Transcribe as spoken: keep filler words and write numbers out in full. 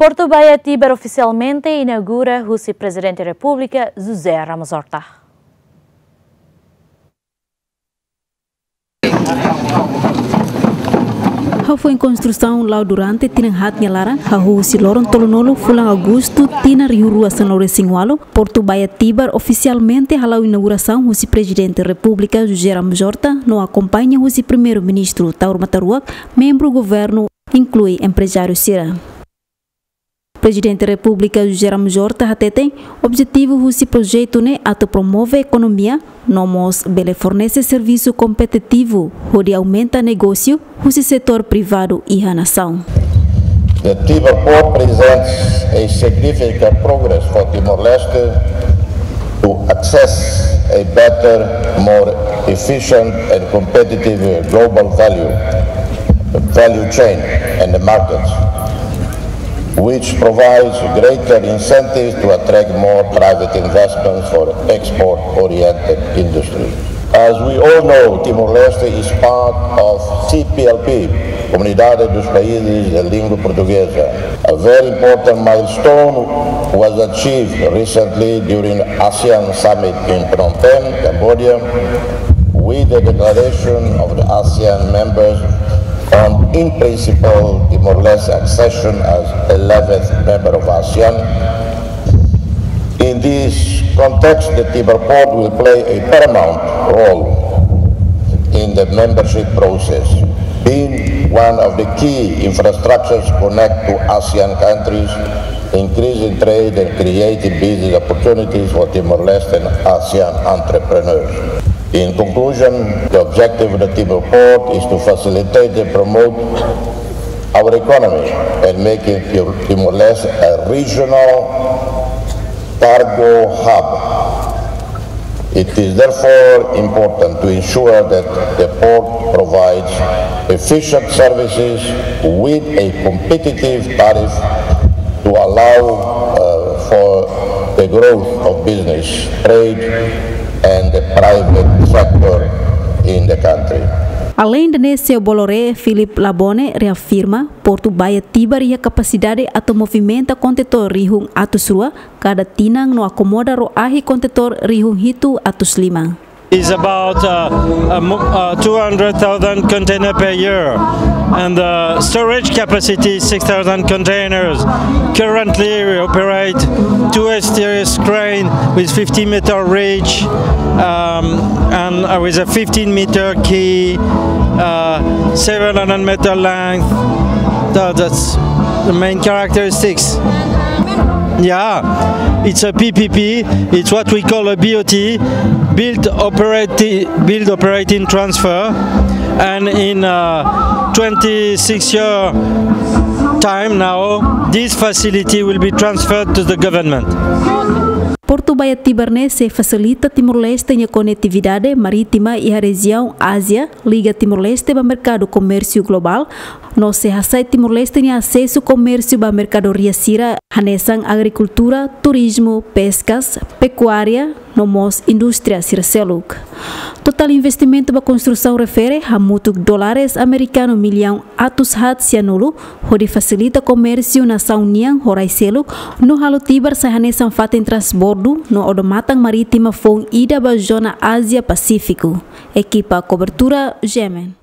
Portu Baía Tibar ofisialmente inaugura husi Prezidente Repúblika José Ramos Horta. Hafoin konstrusaun la'o durante tinan haat nia laran, hahú husi loron tolunulu fulan Agostu tinan rihun rua sanulu-resin-ualu, Portu Baía Tibar ofisialmente hala'o inaugurasaun husi Prezidente Repúblika José Ramos Horta no akompaña husi Primeiru-Ministru Taur Matan Ruak, membru governu, inklui emprezáriu sira. Prezidente Repúblika José Ramos Horta hateten, objetivu husi projetu ne'e atu promove ekonomia, no mós bele fornese servisu kompetitivu, hodi aumenta negósiu husi setór privadu iha nasaun. The Tibar Port presents a significant progress for Timor-Leste to access a better, more efficient and competitive global value, value chain and the markets, which provides greater incentives to attract more private investments for export-oriented industry. As we all know, Timor-Leste is part of C P L P, Comunidade dos Países de Língua Portuguesa. A very important milestone was achieved recently during ASEAN Summit in Phnom Penh, Cambodia, with the declaration of the ASEAN members on, in principle, Timor-Leste accession as eleventh member of ASEAN. In this context, the Tibar Port will play a paramount role in the membership process, being one of the key infrastructures connect to ASEAN countries, increasing trade and creating business opportunities for Timor-Leste and ASEAN entrepreneurs. In conclusion, the objective of the Tibar Port is to facilitate and promote our economy and making Tim-, Timor-Leste a regional cargo hub. It is therefore important to ensure that the port provides efficient services with a competitive tariff to allow, uh, for the growth of business, trade, and the private sector in the country. Alende ne'e, seu Boloré Philip Labone reafirma, Portu Baía Tibar iha kapasidade atu movimenta kontentór rihun atus rua kada tinan no akomoda roahi kontentór rihun hitu atus lima. Is about, uh, a mo-, uh, two hundred thousand container per year, and the storage capacity is six thousand containers. Currently, we operate two S T S crane with fifty meter reach, um, and, uh, with a fifteen meter quay, uh, seven hundred meter length. So that's the main characteristics. Yeah, it's a P P P. It's what we call a B O T, build, operate, build, operate and transfer. And in, uh, twenty-six year time now, this facility will be transferred to the government. Portu Baía Tibar ne'e sei fasilita Timor-Leste nia konetividade marítima iha rejiaun Ázia, liga Timor-Leste ba merkadu komérsiu globál, no sei hasai Timor-Leste nia asesu komérsiu ba merkadoria sira hanesan agrikultura, turizmu, peskas, pekuária, no mós indústria sira seluk. Totál investimentu ba konstrusaun refere hamutuk dólares amerikanu millaun atus haat sianulu, hodi fasilita komérsiu nasaun nian ho rai seluk, no halo Tibar sai hanesan fatin transbordu no odamatan marítima foun ida ba zona Ázia Pasífiku. Ekipa kobertura, G M N.